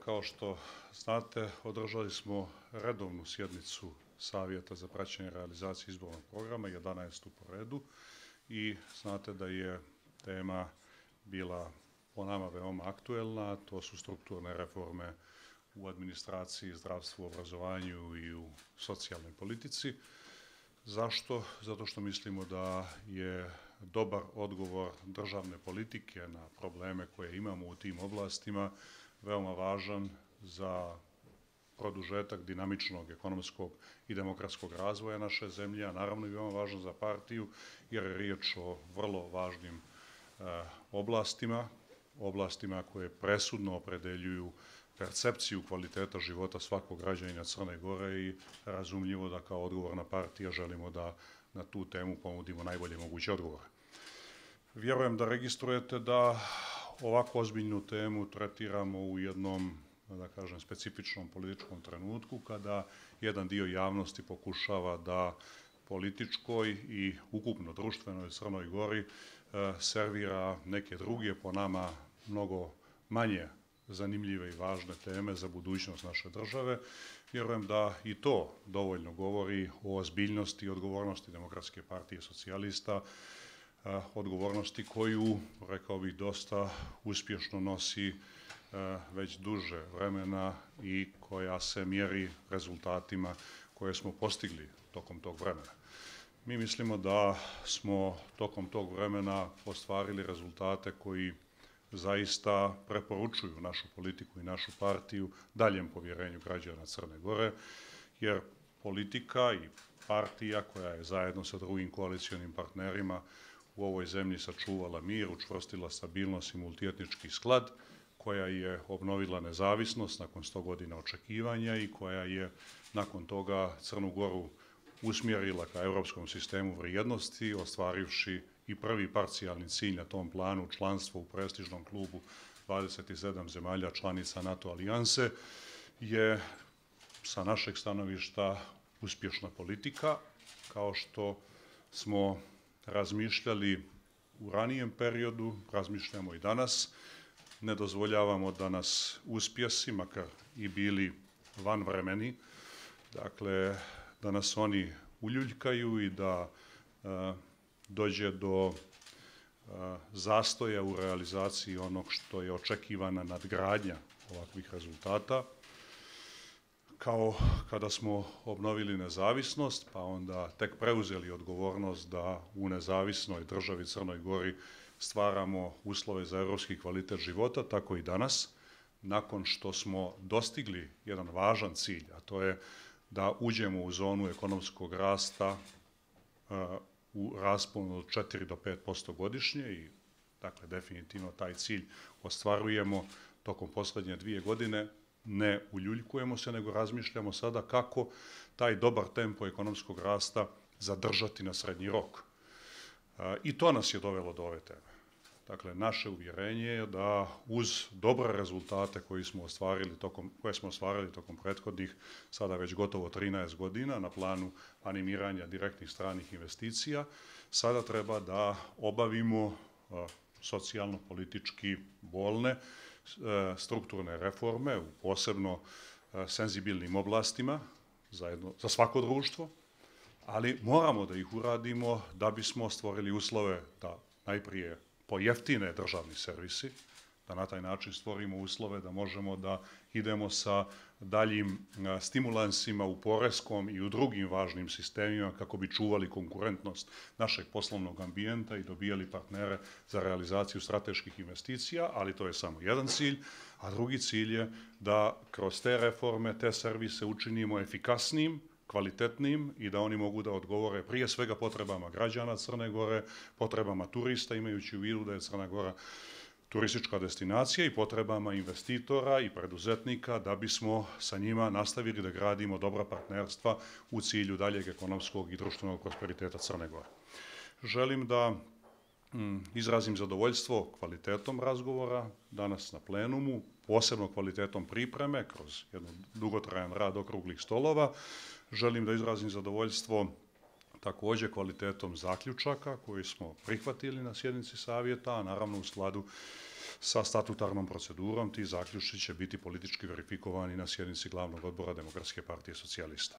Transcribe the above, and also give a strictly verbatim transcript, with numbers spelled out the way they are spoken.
kao što znate, održali smo redovnu sjednicu Savjeta za praćenje realizacije izbornog programa, jedanaestu po redu, i znate da je tema bila po nama veoma aktuelna. To su strukturne reforme u administraciji, zdravstvu, obrazovanju i u socijalnoj politici. Zašto? Zato što mislimo da je dobar odgovor državne politike na probleme koje imamo u tim oblastima veoma važan za produžetak dinamičnog ekonomskog i demokratskog razvoja naše zemlje, a naravno i veoma važan za partiju, jer je riječ o vrlo važnim e, oblastima, oblastima koje presudno opredeljuju percepciju kvaliteta života svakog građanina Crne Gore i razumljivo da kao odgovorna partija želimo da na tu temu ponudimo najbolje moguće odgovore. Vjerujem da registrujete da ovako ozbiljnu temu tretiramo u jednom, da kažem, specifičnom političkom trenutku kada jedan dio javnosti pokušava da političkoj i ukupno društvenoj Crnoj Gori e, servira neke druge, po nama mnogo manje zanimljive i važne teme za budućnost naše države. Vjerujem da i to dovoljno govori o ozbiljnosti i odgovornosti Demokratske partije socijalista, odgovornosti koju, rekao bih, dosta uspješno nosi već duže vremena i koja se mjeri rezultatima koje smo postigli tokom tog vremena. Mi mislimo da smo tokom tog vremena ostvarili rezultate koji zaista preporučuju našu politiku i našu partiju daljem povjerenju građana Crne Gore, jer politika i partija koja je zajedno sa drugim koalicionim partnerima u ovoj zemlji sačuvala mir, učvrstila stabilnost i multietnički sklad, koja je obnovila nezavisnost nakon sto godina očekivanja i koja je nakon toga Crnu Goru usmjerila ka europskom sistemu vrijednosti, ostvarivši i prvi parcijalni cilj na tom planu, članstvo u prestižnom klubu dvadeset sedam zemalja članica NATO alijanse, je sa našeg stanovišta uspješna politika. Kao što smo razmišljali u ranijem periodu, razmišljamo i danas. Ne dozvoljavamo da nas uspjesi, makar i bili vanvremeni, dakle, da nas oni uljuljkaju i da e, dođe do e, zastoja u realizaciji onog što je očekivana nadgradnja ovakvih rezultata. Kao kada smo obnovili nezavisnost, pa onda tek preuzeli odgovornost da u nezavisnoj državi Crnoj Gori stvaramo uslove za europski kvalitet života, tako i danas, nakon što smo dostigli jedan važan cilj, a to je da uđemo u zonu ekonomskog rasta uh, u rasponu od četiri do pet posto godišnje i, dakle, definitivno taj cilj ostvarujemo tokom posljednje dvije godine. Ne uljuljkujemo se, nego razmišljamo sada kako taj dobar tempo ekonomskog rasta zadržati na srednji rok. I to nas je dovelo do ove teme. Dakle, naše uvjerenje je da uz dobre rezultate koje smo ostvarili tokom, koje smo ostvarili tokom prethodnih, sada već gotovo trinaest godina na planu animiranja direktnih stranih investicija, sada treba da obavimo socijalno-politički bolne strukturne reforme u posebno senzibilnim oblastima zajedno, za svako društvo, ali moramo da ih uradimo da bismo stvorili uslove da najprije pojeftine državni servisi, da na taj način stvorimo uslove da možemo da idemo sa daljim stimulansima u poreskom i u drugim važnim sistemima kako bi čuvali konkurentnost našeg poslovnog ambijenta i dobijali partnere za realizaciju strateških investicija, ali to je samo jedan cilj, a drugi cilj je da kroz te reforme, te servise učinimo efikasnijim, kvalitetnim i da oni mogu da odgovore prije svega potrebama građana Crne Gore, potrebama turista, imajući u vidu da je Crna Gora turistička destinacija, i potrebama investitora i preduzetnika da bismo sa njima nastavili da gradimo dobra partnerstva u cilju daljeg ekonomskog i društvenog prosperiteta Crne Gore. Želim da mm, izrazim zadovoljstvo kvalitetom razgovora danas na plenumu, posebno kvalitetom pripreme kroz jedan dugotrajan rad okruglih stolova. Želim da izrazim zadovoljstvo također kvalitetom zaključaka koji smo prihvatili na sjednici savjeta, a naravno u skladu sa statutarnom procedurom. Ti zaključci će biti politički verifikovani na sjednici glavnog odbora Demokratske partije socijalista.